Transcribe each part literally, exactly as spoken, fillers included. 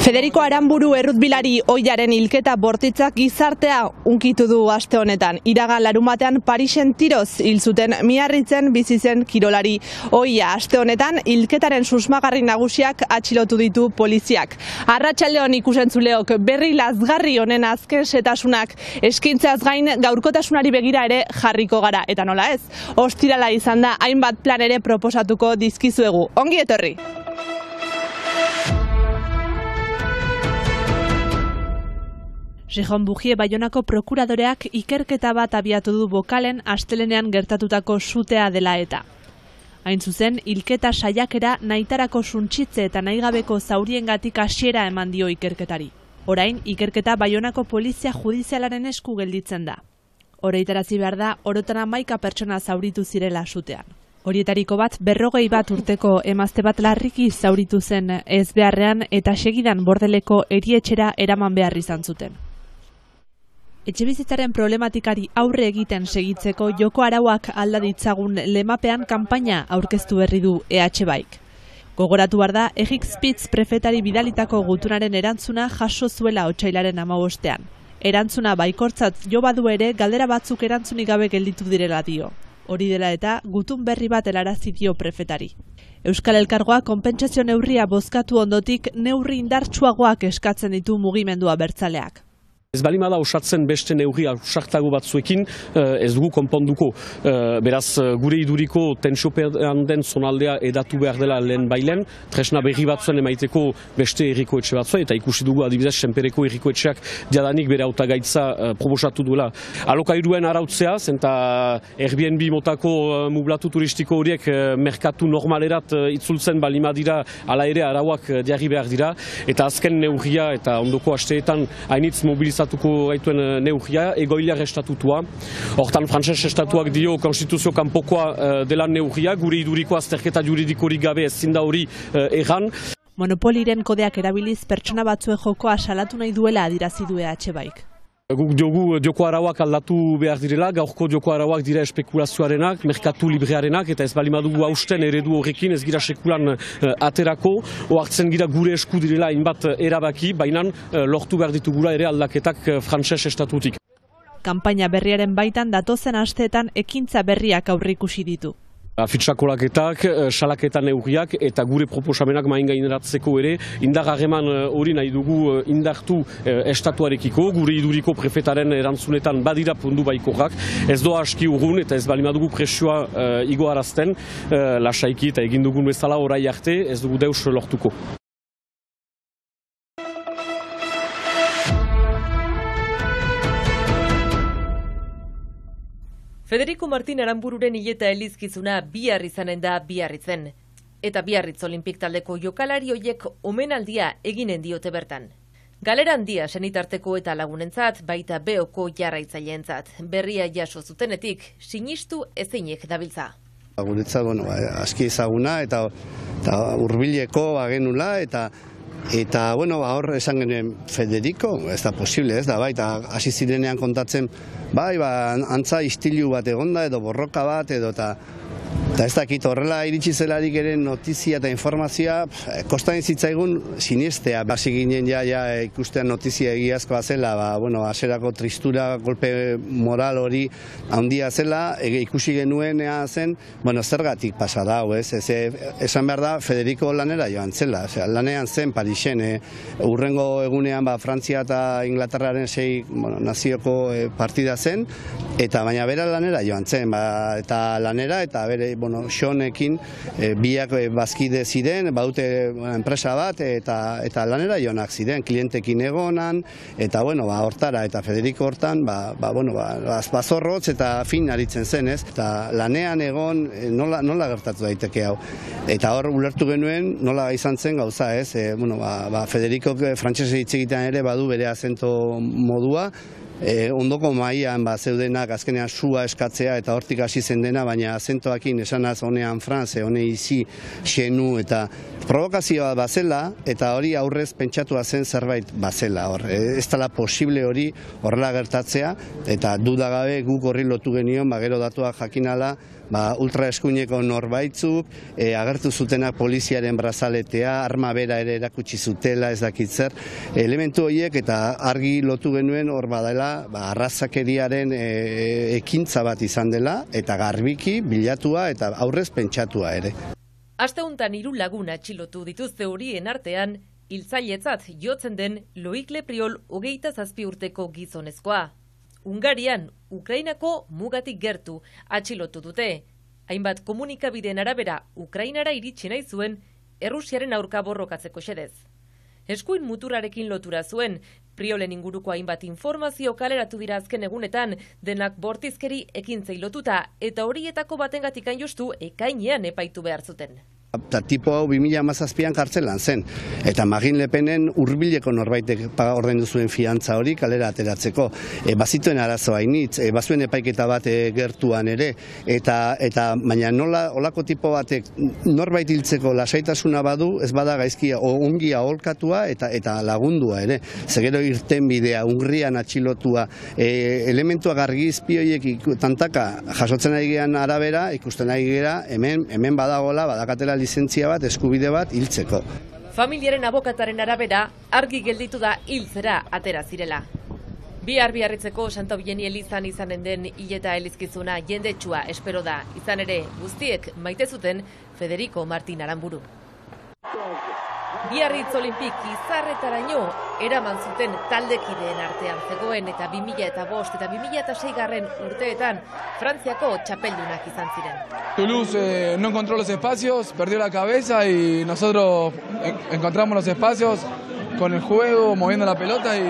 Federico Aranburu errutbilari ohiaren hilketa bortitzak gizartea unkitu du aste honetan. Iragan larumatean Parisen tiroz hil zuten Miarritzen bizi zen kirolari ohia. Aste honetan hilketaren susmagarri nagusiak atxilotu ditu poliziak. Arratsaldeon ikusentzuleok, berri lazgarri honen azken setasunak eskintzeaz gain gaurkotasunari begira ere jarriko gara. Eta nola ez, ostirala izan da hainbat plan ere proposatuko dizkizuegu. Ongi etorri! Jejón Bujie Baionako prokuradoreak ikerketa bat abiatu du bokalen astelenean gertatutako sutea dela eta. Hain zuzen, hilketa saiakera nahitarako suntsitze eta nahigabeko zauriengatik hasiera eman dio ikerketari. Orain, ikerketa Baionako polizia judizialaren esku gelditzen da. Horeitarazi behar da, orotan hamaika pertsona zauritu zirela sutean. Horietariko bat, berrogei bat urteko emazte bat larriki zauritu zen ez beharrean eta segidan bordeleko erietxera eraman behar izan zuten. Etxebizitzaren problematikari aurre egiten segitzeko joko arauak alda ditzagun lemapean kanpaina aurkeztu berri du E H Baik. Gogoratu behar da, Egik Spitz prefetari bidalitako gutunaren erantzuna jaso zuela otsailaren hamabostean. Erantzuna baikortzat jo badu ere galdera batzuk erantzunik gabe gelditu direla dio. Hori dela eta gutun berri bat helarazi dio prefetari. Euskal Elkargoa konpentsazio neurria bozkatu ondotik neurri indartsuagoak eskatzen ditu mugimendua abertzaleak. Ez balimada osatzen beste neurri ausartago batzuekin ez dugu konponduko. Beraz, gure iduriko tentsiopean den zonaldea edatu behar dela lehen bailen, tresna berri batzuen emaiteko beste erriko etxe batzua, eta ikusi dugu adibidez senpereko erriko etxeak jadanik bere hautagaitza proposatu duela. Alokairuen arautzea, zenta Airbnb motako mublatu turistiko horiek merkatu normalerat itzultzen balima dira, ala ere arauak jarri behar dira, eta azken neurria eta ondoko asteetan hainitz mobilizatu Estatuko gaituen neurria, egoiliar estatutua. Hortan, frantses estatuak dio konstituzio kanpokoa dela neurria, gure iduriko azterketa juridikorik gabe ezin da hori erran. Monopoliren kodeak erabiliz pertsona batzuen jokoa salatu nahi duela adirazi du E H Baik. Guk diogu joko arauak aldatu behar direla, gaurko joko arauak dira espekulazioarenak, merkatu librearenak, eta ez balimadugu hausten eredu horrekin ez gira sekulan aterako, oartzen gira gure esku direla hainbat erabaki, baina lortu behar ditugula ere aldaketak frantses estatutik. Kanpaina berriaren baitan datozen asteetan ekintza berriak aurreikusi ditu. Fitxakolaketak, salaketan neurriak eta gure proposamenak main gaineratzeko ere indar harreman hori nahi dugu indartu estatuarekiko, gure iduriko prefetaren erantzunetan badira pundu baikorrak, ez doa aski urgun eta ez balimadugu presioa igoarazten, lasaiki eta egin dugun bezala orai arte ez dugu deus lortuko. Federico Martin Aranbururen hileta elizkizuna bihar izanen da Biarritzen. Eta Biarritz Olimpik taldeko jokalari hoiek omenaldia eginen diote bertan. Galera handia senitarteko eta lagunentzat, baita Beoko jarraitzaileentzat. Berria jaso zutenetik, sinistu ezinek dabiltza. Guretzat, bueno, aski ezaguna eta, eta hurbileko bagenula eta Eta, bueno, hor esan genuen Federico, ez da posible, ez da, bai, eta hasi zirenean kontatzen, bai, ba, antza istilu bat egonda edo borroka bat edo, eta Eta ez dakit horrela iritsi zelarik ere notizia eta informazioa kostan zitzaigun sinestea. Hasi ginen ja, ja ikustean notizia egiazkoa zela, ba, bueno, aserako tristura, golpe moral hori handia zela, ege, ikusi genuenea zen, bueno, zergatik pasa da, ez, ez, esan behar da Federico lanera joan zela, osea, lanean zen Parisen, eh, urrengo egunean ba, Frantzia eta Inglaterraren sei bueno, nazioko eh, partida zen, eta baina bera lanera joan zen, ba, eta lanera, eta bere, bueno, Xonekin e, biak e, bazkide ziren, badute bueno, enpresa bat eta eta lanera joanak ziren, klientekin egonan eta bueno, ba hortara eta Federico hortan, ba, ba bueno, ba bazorrotz eta fin aritzen zen, ez? Eta lanean egon e, nola nola gertatu daiteke hau. Eta hor ulertu genuen nola izan zen gauza, ez? E, bueno, ba, ba Federico frantsese hitz egitean ere badu bere azento modua. e, ondoko mailan ba, zeudenak azkenean sua eskatzea eta hortik hasi zen dena, baina azentoakin esanaz honean franze, hone izi, xenu eta provokazioa bazela eta hori aurrez pentsatua zen zerbait bazela hor. Ez dela posible hori horrela gertatzea eta dudagabe guk horri lotu genion, ba, gero datuak jakinala, ba, ultraeskuineko norbaitzuk, e, agertu zutenak poliziaren brazaletea, arma bera ere erakutsi zutela, ez dakit zer, elementu horiek eta argi lotu genuen hor badela, ba, arrazakeriaren e, ekintza bat izan dela, eta garbiki, bilatua eta aurrez pentsatua ere. Aste hontan hiru lagun atxilotu dituzte horien artean, hiltzailetzat jotzen den Loik Lepriol hogeita zazpi urteko gizonezkoa. Hungarian, Ukrainako mugatik gertu atxilotu dute. Hainbat komunikabideen arabera Ukrainara iritsi nahi zuen Errusiaren aurka borrokatzeko xedez. Eskuin muturrarekin lotura zuen, Priolen inguruko hainbat informazio kaleratu dira azken egunetan, denak bortizkeri ekintzei lotuta eta horietako batengatik hain justu ekainean epaitu behar zuten. Eta tipo hau bi mila hamazazpian kartzelan zen. Eta Marine Le Penen hurbileko norbaitek ordaindu zuen fiantza hori kalera ateratzeko. E, bazituen arazoa hainitz, e, bazuen epaiketa bat e, gertuan ere. Eta, eta baina nola olako tipo batek norbait hiltzeko lasaitasuna badu, ez bada gaizkia o ongia aholkatua eta eta lagundua ere. Zegero irten bidea, Hungrian atxilotua, e, elementuak argizpi horiek tantaka jasotzen ari gean arabera, ikusten ari gera, hemen, hemen badagola, badakatela lizentzia bat, eskubide bat, hiltzeko. Familiaren abokataren arabera, argi gelditu da hiltzera atera zirela. Bihar biarritzeko Santa Eugeni elizan izanen den hileta elizkizuna jendetsua espero da, izan ere guztiek maite zuten Federico Martin Aramburu. Biarritz Olimpik izarretaraino eraman zuten taldekideen artean zegoen eta bi mila eta bost eta bi mila eta sei garren urteetan Frantziako txapeldunak izan ziren. Toulouse eh, no encontró los espacios, perdió la cabeza y nosotros en encontramos los espacios con el juego, moviendo la pelota y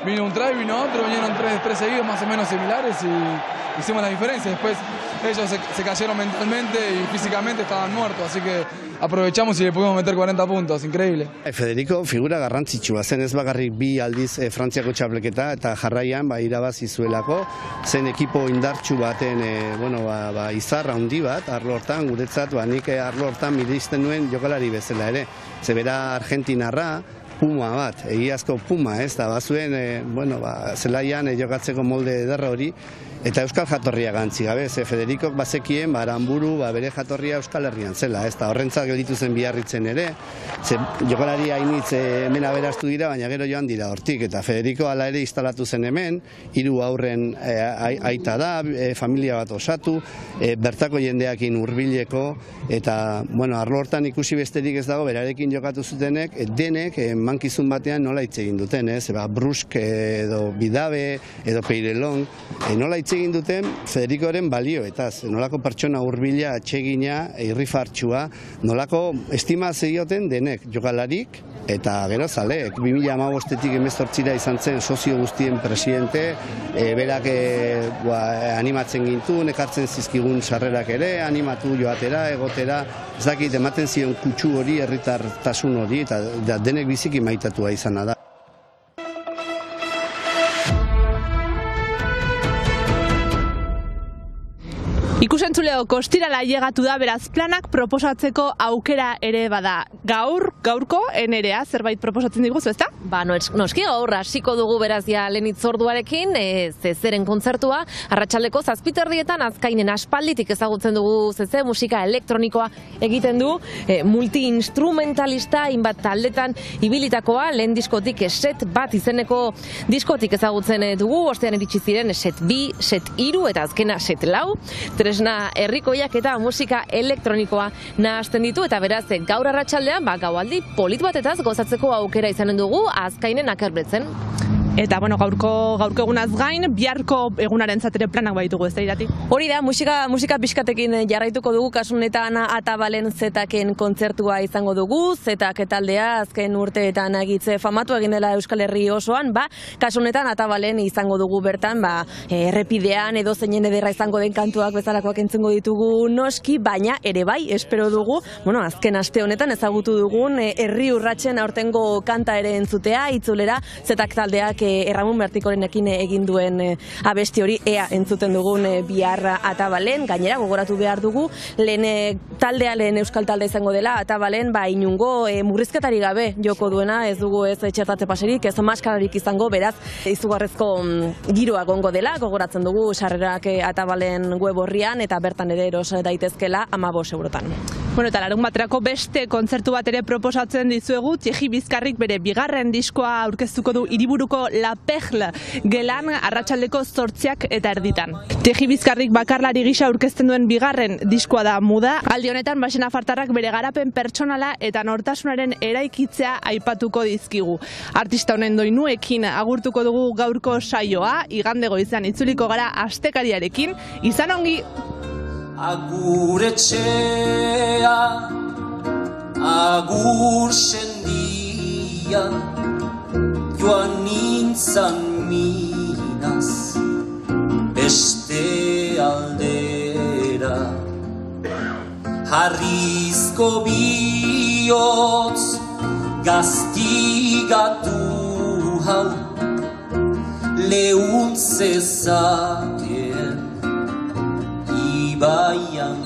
vino un try, vino otro, vinieron tres, tres seguidos más o menos similares y hicimos la diferencia. Después ellos se, se cayeron mentalmente y físicamente estaban muertos, así que aprovechamos y le pudimos meter cuarenta puntos, increíble. Federico figura garrantzitsua zen, ez bakarrik bi aldiz e, Frantziako txapleketa eta jarraian ba, irabazi zuelako, zen ekipo indartsu baten e, bueno, ba, ba, izarra handi bat, arlo hortan, guretzat, ba, nik arlo hortan mireizten nuen jokalari bezala ere. Zebera Argentinarra, puma bat, egiazko puma, ez da, bazuen, e, bueno, ba, zelaian e, jokatzeko molde ederra hori, eta euskal jatorria gantzi gabe, ze Federikok bazekien, ba, Aramburu, ba, bere jatorria Euskal Herrian zela, ez da, horrentzat gelditu zen Biarritzen ere, ze jokalari hainitz hemen aberastu dira, baina gero joan dira hortik, eta Federiko hala ere instalatu zen hemen, hiru aurren e, aita da, e, familia bat osatu, e, bertako jendeakin hurbileko, eta, bueno, arlo hortan ikusi besterik ez dago, berarekin jokatu zutenek, e, denek, e, mankizun batean nola hitz egin duten, ez, ba, Brusk edo Bidabe, edo Peirelon, e, nola hitz egin duten Federikoren balioetaz, nolako pertsona hurbila, atsegina, irrifartsua, nolako estima zegioten denek, jokalarik eta gero zaleek. bi mila hamabostetik hemezortzira izan zen sozio guztien presidente, e, berak e, ba, animatzen gintun, ekartzen zizkigun sarrerak ere, animatu joatera, egotera, ez dakit ematen zion kutsu hori, herritartasun hori, eta da, denek biziki maitatua izana da. Ikusentzuleo kostirala llegatu da, beraz planak proposatzeko aukera ere bada. Gaur, gaurko, Nerea, zerbait proposatzen diguzu, ezta? Ba, noski gaur, hasiko dugu beraz ja lehen itzorduarekin, e, zezeren kontzertua, arratsaldeko zazpiterdietan azkainen aspalditik ezagutzen dugu zeze, musika elektronikoa egiten du, e, multi-instrumentalista, inbat taldetan ibilitakoa, lehen diskotik set bat izeneko diskotik ezagutzen dugu, ostean iritsi ziren set bi, set hiru eta azkena set lau, tresna herrikoiak eta musika elektronikoa nahazten ditu, eta beraz gaur arratsaldean ba, gaualdi polit batetaz gozatzeko aukera izanen dugu Azkainen Akerbretzen. Eta, bueno, gaurko, gaurko egunaz gain, biharko egunaren zatera planak baitugu, ez da irati? Hori da, musika, musika pixkatekin jarraituko dugu, kasunetan Atabalen Zetaken kontzertua izango dugu, Zetak taldea azken urteetan agitze famatu egin dela Euskal Herri osoan, ba, kasunetan Atabalen izango dugu bertan, ba, errepidean edo zeinen ederra izango den kantuak bezalakoak entzengo ditugu noski, baina ere bai, espero dugu, bueno, azken aste honetan ezagutu dugun herri urratsen aurtengo kanta ere entzutea, itzulera Zetak taldeak Erramun Mertikorenekin egin duen abesti hori, ea entzuten dugun bihar Atabalen. Gainera, gogoratu behar dugu, lehen taldea, lehen euskal talde izango dela, Atabalen, ba, inungo murrizketari gabe joko duena, ez dugu ez txertatze paserik, ez maskararik izango, beraz, izugarrezko giroa gongo dela, gogoratzen dugu sarrerak Atabalen web horrian, eta bertan ere eros daitezkela hamabost eurotan. Bueno, eta larun baterako beste kontzertu bat ere proposatzen dizuegu, Txeji Bizkarrik bere bigarren diskoa aurkeztuko du hiriburuko La Perle gelan arratsaldeko zortziak eta erditan. Txeji Bizkarrik bakarlari gisa aurkezten duen bigarren diskoa da Muda. Aldi honetan Baxena Fartarrak bere garapen pertsonala eta nortasunaren eraikitzea aipatuko dizkigu. Artista honen doinuekin agurtuko dugu gaurko saioa, igande goizean itzuliko gara astekariarekin, izan ongi! Agur etxea, agur sendia, joan nintzan minaz, beste aldera. Harrizko bihotz, gaztigatu hau, lehun zezakeen, ibaian